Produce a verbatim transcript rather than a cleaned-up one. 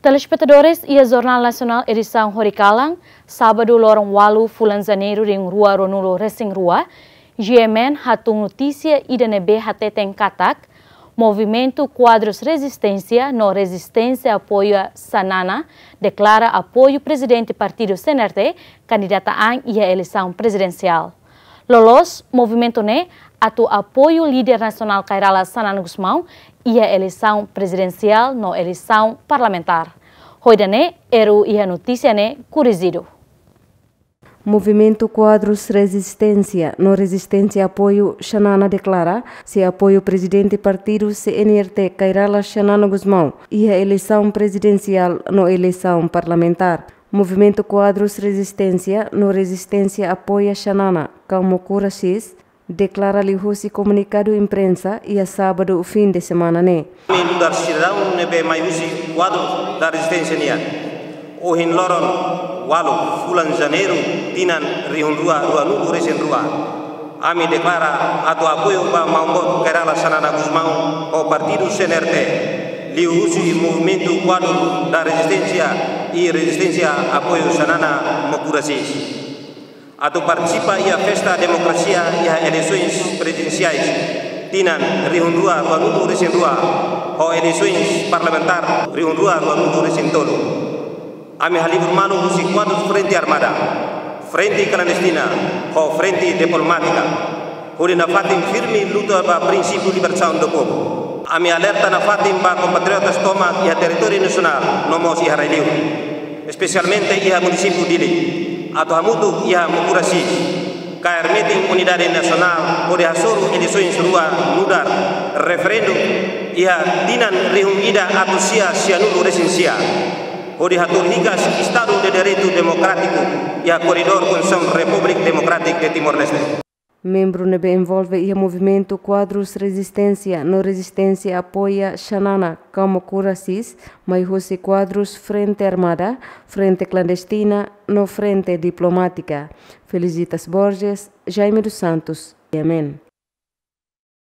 Telespetadores, iha Jornál Nasionál edisaun horikalan, sábadu loron ualu fulan Janeiru rihun rua ruanulu resin rua, G M N hatún notísia ida ne'ebé hateten katak Movimentu Kuadrus Rezisténsia no Rezisténsia Apoia Xanana deklara apoiu Prezidente Partidu C N R T kandidata an iha eleisaun prezidensiál. Loloos movimentu ne'e atu apoiu líder nasionál Kay Rala Xanana Gusmão iha eleisaun prezidensiál no eleisaun parlamentár. Ho ida-ne'e, R U iha notísia ne'e korijidu. Movimentu Kuadrus Rezisténsia no Rezisténsia Apoiu Xanana deklara sei apoiu Prezidente Partidu C N R T Kay Rala Xanana Gusmão iha eleisaun prezidensiál no eleisaun parlamentár. Movimentu Kuadrus Rezisténsia no Rezisténsia Apoia Xanana, Kamokura Sis, deklara liuhusi komunikadu imprensa iha sábadu fin de semana ne'e. Ami nu'udar sidadaun ne'ebé mai husi Kuadru da Rezisténsia nian, ohin loron ualu fulan Janeiru tinan rihun rua ruanulu resin rua, ami deklara atu apoiu ba maun-boot Kay Rala Xanana Gusmão ho Partidu C N R T, liuhusi Movimentu Kuadru da Rezisténsia i Rezisténsia Apoiu Xanana Kamokura Sis, atu partisipa iha festa demokrasia iha eleisoens prezidensiais tinan rihun rua ruanulu resin rua ho eleisoens parlamentár rihun rua ruanulu resin tolu. Ami halibur malu husi kuadru Frente Armada, Frente Klandestina ho Frente Diplomátika, hodi nafatin firme luta ba prinsípiu libertasaun do povu. Ami alerta nafatin ba kompatriotas tomak iha territóriu nasionál no mós iha rai-li'ur, espesialmente iha munisípiu Dili, atu hamutuk iha Kamokura Sis, kaer metin unidade nasionál hodi hasoru eleisoens rua nu'udar referendu iha tinan rihun ida atus sia sianulu resin sia, hodi hatuur hikas Estadu de Direitu Demokrátiku iha koridór Konstituisaun Repúblika Demokrátika de Timor-Leste. Membru ne'ebé envolve iha Movimentu Kuadrus Rezisténsia no Rezisténsia Apoia Xanana, Kamokura Sis, mai husi kuadrus Frente Armada, Frente Klandestina no Frente Diplomátika. Felicitas Borges, Jaime dos Santos, G M N.